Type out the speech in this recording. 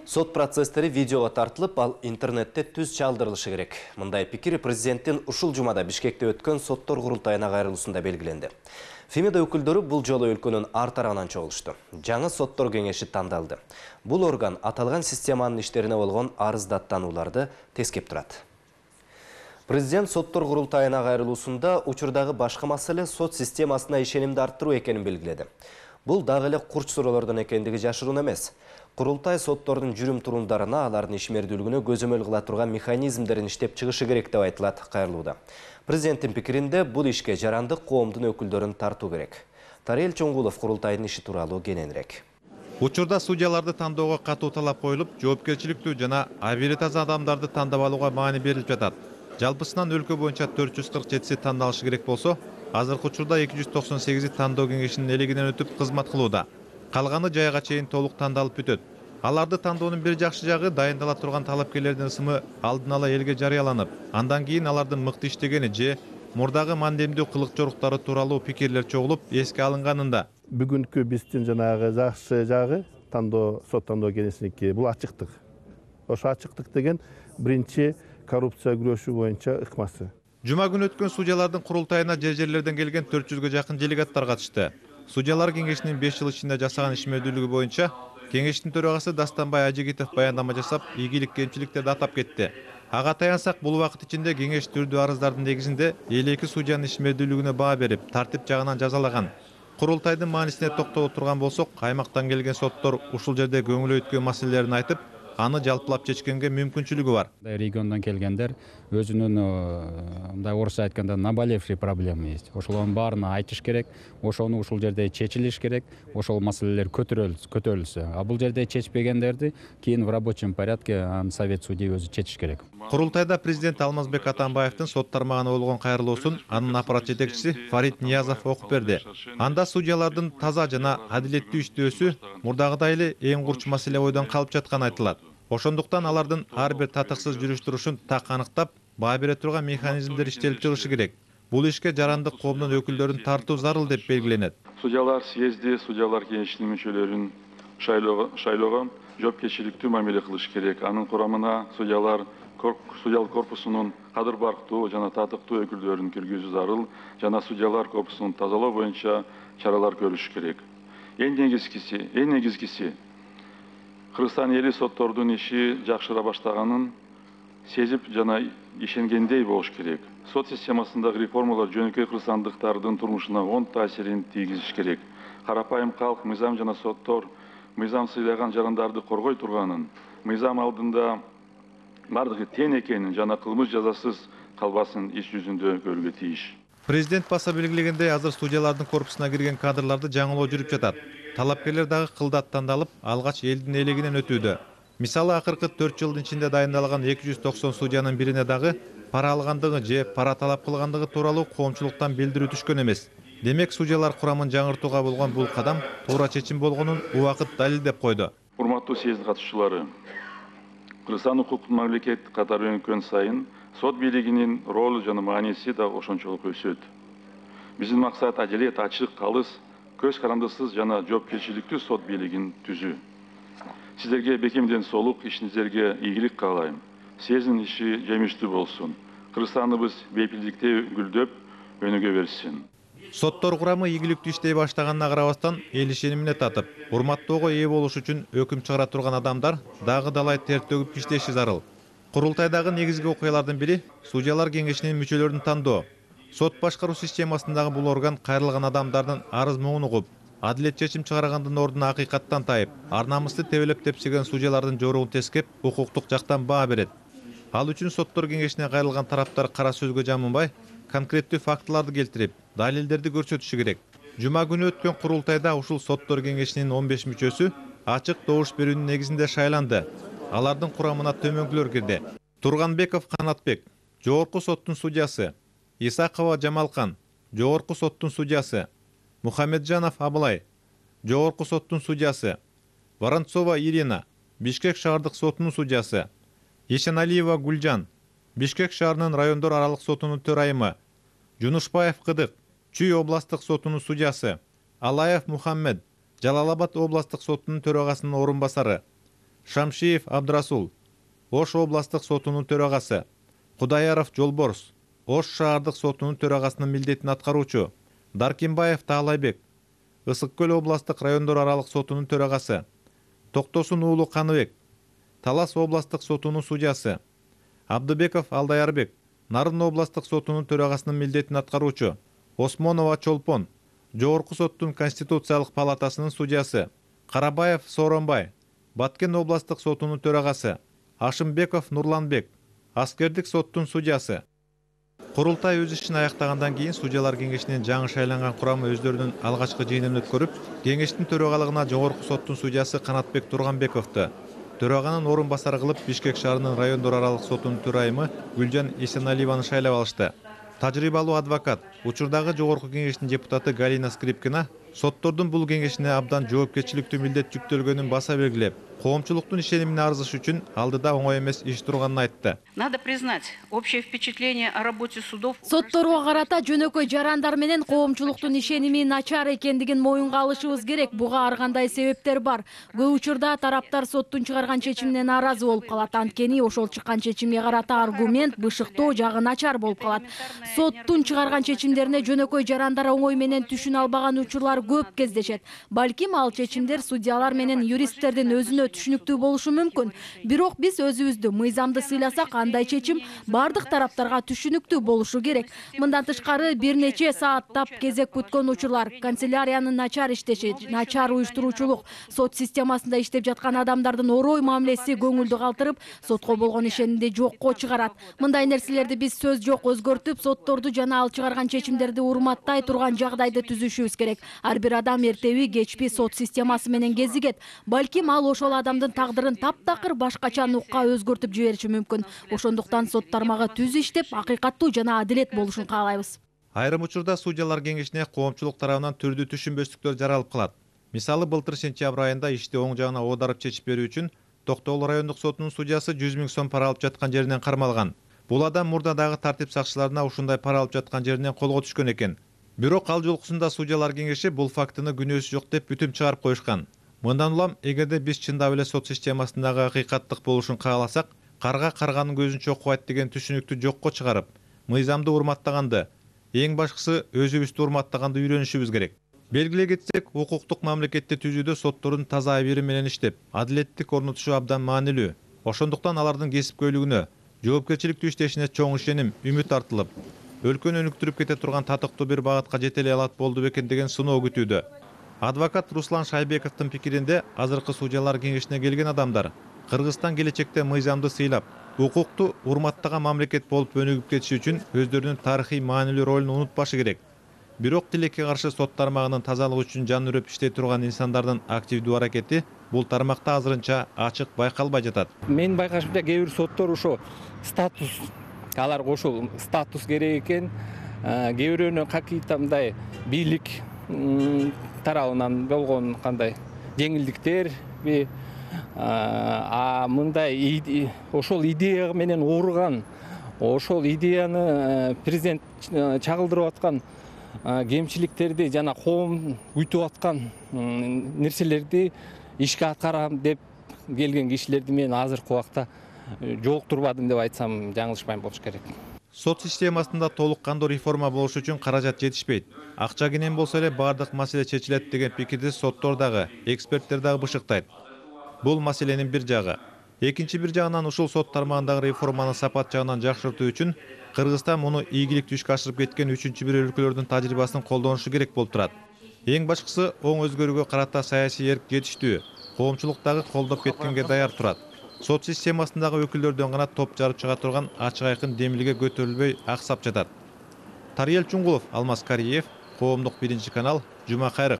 Сот процесстери видеого тартылып, ал интернетте түз чалдырылышы керек. Мындай пикир президенттин ушул жумада Бишкекте өткөн соттор курултайына кайрылуусунда белгиленди. Фемида өкүлдөрү бул жолу өлкөнүн ар тарабынан чогулушту. Жаңы соттор кеңеши тандалды. Бул орган аталган системанын иштерине болгон арыз даттанууларды тескеп турат. Президент соттор курултайына кайрылуусунда учурдагы башкы маселе сот системасына ишенимди арттыруу экенин белгиледи. Бул дагы эле курч суроолордон экендиги жашыруун эмес. Курултай соттордун жүрүм-турумдарына, алардын ишмердүүлүгүнө көзөмөл кыла турган механизмдерин иштеп чыгышы керек деп айтылат кайрылууда. Президенттин пикиринде бул ишке жарандык коомдун өкүлдөрүн тартуу керек. Тарел Чоңгулов курултайдын иши тууралуу кененирээк. Учурда судьяларды тандоого катуу талап коюлуп, жоопкерчиликтүү жана абийири таза адамдарды тандап алууга маани берилип жатат. Жалпысынан өлкө боюнча 447 тандалышы керек болсо, азыркы учурда 298 тандоо кеңешинин элегинен өтүп кызмат кылууда. Калганы жайга чейин толук тандалып бүтөт. Аларды тандоонун бир жакшы жагы дайындала турган талапкерлердин ысымы алдын ала элге жарыяланып, андан кийин алардын мыкты иштегени же мурдагы мандемдүү кылык жоруктары тууралуу пикирлер чогулуп эске алынганында. Бүгүнкү биздин жанагы жакшы жагы сот тандоо кеңешиники бул ачыктык. Ошо ачыктык деген биринчи коррупция күрөшүү боюнча ыкмасы. Жума күнү өткөн судьялардын курултайына жер-жерлерден келген 400гө жакын делегаттар катышты. Судьялар кеңешинин 5 жыл ичинде жасаган ишмердүүлүгү боюнча кеңештин төрагасы Дастанбай Ажигитов баяндама жасап, ийгилик кемчиликтерди атап кетти. Ага таянсак, бул убакыт ичинде кеңеш түрдүү арыздардын негизинде 52 судьянын ишмердүүлүгүнө баа берип, тартип жагынан жазалаган. Курултайдын маанисине токтоло турган болсок, аймактан келген соттор ушул жерде көңүл өткөн маселелерин айтып, аны жалпылап чечкенге мүмкүнчүлүгү бар. Региондон келгендер өзүнүн мындай орусча айтканда наболевший проблема есть. Ошолордун баарына айтыш керек, ошону ушул жерде чечилиш керек, ошол маселелер көтөрүлсө. А бул жерде чечпегендерди кийин в рабочем порядке совет судей өзү чечиш керек. Курултайда президент Алмазбек Атамбаевдин сот тармагына болгон кайрылуусун анын аппарат жетекчиси Фарид Ниязов окуп берди. Анда судьялардын таза жана адилеттүү иштөөсү мурдагыдай эле эң курч маселе ойдон калып жатканы айтылат. Ошондуктан алардын ар бир татыксыз жүрүш турушун так аныктап, баа бере турган механизмдер иштелип чыгышы керек. Бул ишке жарандык коомдун өкүлдөрүн тартуу зарыл деп белгиленет. Судьялар съезди, судьялар кеңешинин мүчөлөрүн шайлоого жоопкерчиликтүү мамиле кылыш керек. Анын курамына судьялык корпусунун кадыр барктуу жана татыктуу өкүлдөрүн киргизүү зарыл жана судьялар корпусун тазалоо боюнча чаралар көрүш керек. Эң негизгиси Кыргызстан эли соттордун иши жакшыра баштаганын сезип жана ишенгендей болуш керек. Сот системасындагы реформалар жөнөкөй кыргызстандыктардын турмушуна оң таасирин тийгизиш керек. Карапайым калк мыйзам жана соттор мыйзам сыйлаган жарандарды коргой турганын, мыйзам алдында бардыгы тең экенин жана кылмыш жазасыз калбасын иш жүзүндө көрүүгө тийиш. Президент баса белгилегендей, азыр судьялардын корпусуна кирген кадрларды жаңылоо жүрүп жатат. Талапкерлер дагы кылдат тандалып, алгач элдин элегинен өтүүдө. Мисалы, акыркы 4 жылдын ичинде дайындалган 290 судьянын бирине дагы пара алгандыгы же пара талап кылгандыгы тууралуу коомчулуктан билдирүү түшкөн эмес. Демек, судьялар курамын жаңыртууга болгон бул кадам туура чечим болгонун убакыт далилдеп койду. Урматтуу съезд катышчылары, Кыргызстан укуктук мамлекет катары өнүккөн сайын сот бийлигинин ролу жана мааниси да ошончолук өсөт. Биздин максат адилет, ачык, алыс, көз карандысыз жана жоопкерчиликтүү сот бийлигин түзүү. Сиздерге бекемден солук, ишиңиздерге ийгилик каалайм. Съездин иши жемиштүү болсун. Кыргызстаныбыз бейпилдикте гүлдөп, өнүгө берсин. Соттор курамы ийгиликтүү иштей баштаганына карабастан, эл ишенимине татып, урматтоого ээ болуш үчүн өкүм чыгара турган адамдар дагы далай тер төгүп иштеши зарыл. Курултайдагы негизги окуялардын бири судьялар кеңешинин мүчөлөрүн тандоо. Сот башкаруу системасындагы бул орган кайрылган адамдардын арыз муңун угуп, адилет чечим чыгаргандын ордуна акыйкаттан тайып, ар намысты тебелеп тепсиген судьялардын жоругун тескеп, укуктук жактан баа берет. Ал үчүн соттор кеңешине кайрылган тараптар кара сөзгө жамынбай, конкреттүү фактыларды келтирип, далилдерди көрсөтүшү керек. Жума күнү өткөн курултайда ушул соттор кеңешинин 15 мүчөсү ачык добуш берүүнүн негизинде шайланды. Алардын курамына төмөнкүлөр кирди. Турганбеков Канатбек, жогорку соттун судьясы; Исакова Жамалкан, жогорку соттун судьясы; Мухамеджанов Абылай, жогорку соттун судьясы; Воронцова Ирина, Бишкек шаардык сотунун судьясы; Ишеналиева Гүлжан, Бишкек шаарынын райондор аралык сотунун төрайымы; Жунушбаев Кыдык, Чүй областтык сотунун судьясы; Алаев Мухаммед, Жалал Абад областтык сотунун төрагасынын орун басары; Шамшиев Абдрасул, Ош областык сотунун төрагасы, Кудаяров Жолборс, Ош шаардык сотунун төрагасынын милдетин аткаруучу, Даркимбаев Таалайбек, Ысык Көл областык райондор аралык сотунун төрагасы, Токтосун уулу Каныбек, Талас областык сотунун судьясы, Абдыбеков Алдаярбек, Нарын областык сотунун төрагасынын милдетин аткаруучу, Осмонова Чолпон, Жогорку соттун Конституциялык палатасынын судьясы, Карабаев Сооронбай, Баткен областык сотунун төрагасы, Ашымбеков Нурланбек, Аскердик соттун судьясы. Курултай өз ишин аяктагандан кийин судьялар кеңешинин жаңы шайланган курамы өздөрүнүн алгачкы жыйынын өткөрүп, кеңештин төрагалыгына Жогорку соттун судьясы Канатбек Турганбековду, төраганын орун басары кылып Бишкек шаарынын райондор аралык сотунун төрайымы Гүлжан Эсеналиеваны шайлап алышты. Тажрыйбалуу адвокат, учурдагы Жогорку кеңештин депутаты Галина Скрипкина соттордун бул кеңешине абдан жоопкерчиликтүү милдет жүктөлгөнүн баса белгилеп, коомчулуктун ишенимине арзыш үчүн алдыда оңой эмес иш турганын айтты. Надо признать, общее впечатление о работе судов. Сотторго карата жөнөкөй жарандар менен коомчулуктун ишеними начар экендигин моюнга алышыбыз керек. Буга ар кандай себептер бар. Көп учурда тараптар соттун чыгарган чечимине нааразы болуп калат. Анткени ошол чыккан чечимге карата аргумент, бышыктоо жагы начар болуп калат. Соттун чыгарган чечимдерине жөнөкөй жарандар оңой менен түшүнө албаган учурлар көп кездешет. Балким ал чечимдер судьялар менен юристтердин өзүнө түшүнүктүү болушу мүмкүн. Бирок биз өзүбүздү мыйзамды сыйласак, андай чечим бардык тараптарга түшүнүктүү болушу керек. Мындан тышкары бир нече сааттап кезек күткөн учурлар, канцеляриянын начар иштеши, начар уюштуруучулук, сот системасында иштеп жаткан адамдардын орой мамилеси көңүлдү калтырып, сотко болгон ишенимди жокко чыгарат. Мындай нерселерди биз сөз жок өзгөртүп, сотторду жана ал чыгарган чечимдерди урматтай турган жагдайды түзүшүбүз керек. Ар бир адам эртеби кечпи сот системасы менен кезигет. Балким ал ошол адамдын тагдырын таптакыр башкача нукка өзгөртүп жибериши мүмкүн. Ошондуктан сот тармагы түз иштеп, акыйкаттуу жана адилет болушун каалайбыз. Айрым учурда судьялар кеңешине коомчулук тарабынан түрдүү түшүнбөстүктөр жаралып калат. Мисалы, былтыр сентябрь айында ишти оң жагына оодарып чечип берүү үчүн Токтогул райондук сотунун судьясы 100 000 сом пара алып жаткан жеринен кармалган. Бул адам мурда дагы тартип сакчыларына ушундай пара алып жаткан жеринен колго түшкөн экен. Бирок ал жолкусунда судьялар кеңеши бул фактыны күнөөсү жок деп бүтүм чыгарып коюшкан. Мындан улам эгерде биз чындап эле сот системасындагы акыйкаттык болушун кааласак, карга карганын көзүн чокубайт деген түшүнүктү жокко чыгарып, мыйзамды урматтаганды, эң башкысы өзүбүздү урматтаганды үйрөнүшүбүз керек. Белгилей кетсек, укуктук мамлекетти түзүүдө соттордун таза абийири менен иштеп, адилеттик орнотушу абдан маанилүү. Ошондуктан алардын кесипкөйлүгүнө, жоопкерчиликтүү иштешине чоң ишеним, үмүт артылып, өлкөнү өнүктүрүп кете турган татыктуу бир багытка жете эле алат болду бекен деген сыноо күтүүдө. Адвокат Руслан Шайбековдун пикиринде, азыркы судьялар кеңешине келген адамдар Кыргызстан келечекте мыйзамды сыйлап, укукту урматтаган мамлекет болуп өнүгүп кетиши үчүн өздөрүнүн тарыхый маанилүү ролун унутпашы керек. Бирок тилекке каршы сот тармагынын тазалыгы үчүн жан үрөп иштей турган инсандардын активдүү аракети бул тармакта азырынча ачык байкалбай жатат. Мен байкашымча кээ бир соттор ошо статус, аларга ошол статус керек экен, кээ бирөөнө какие-то мындай бийлик тарабынан болгон кандай жеңилдиктерби, мындай ошол идея менен ооруган, ошол идеяны президент чагылдырып аткан кемчиликтерди жана коом күтүп аткан нерселерди ишке аткарам деп келген кишилерди мен азыркы убакта жолуктурбадым деп айтсам жаңылышпайм болуш керек. Сот системасында толук кандуу реформа болуш үчүн каражат жетишпейт. Акча кенен болсо эле бардык маселе чечилет деген пикирди соттор дагы, эксперттер дагы бышыктайт. Бул маселенин бир жагы. Экинчи бир жагынан ушул сот тармагындагы реформаны сапат жагынан жакшыртуу үчүн Кыргызстан муну ийгиликтүү ишке ашырып кеткен үчүнчү бир өлкөлөрдүн тажрыйбасын колдонушу керек болуп турат. Эң башкысы оң өзгөрүүгө карата саясий эрк жетиштүү, коомчулук дагы колдоп кеткенге даяр турат. Сот системасындагы өкүлдөрдөн гана топ жарып чыга турган ачык айкын демилге көтөрүлбөй аксап жатат. Тариел Чуңгулов, Алмаз Кариев, Коомдук 1 канал, Жума кайрык.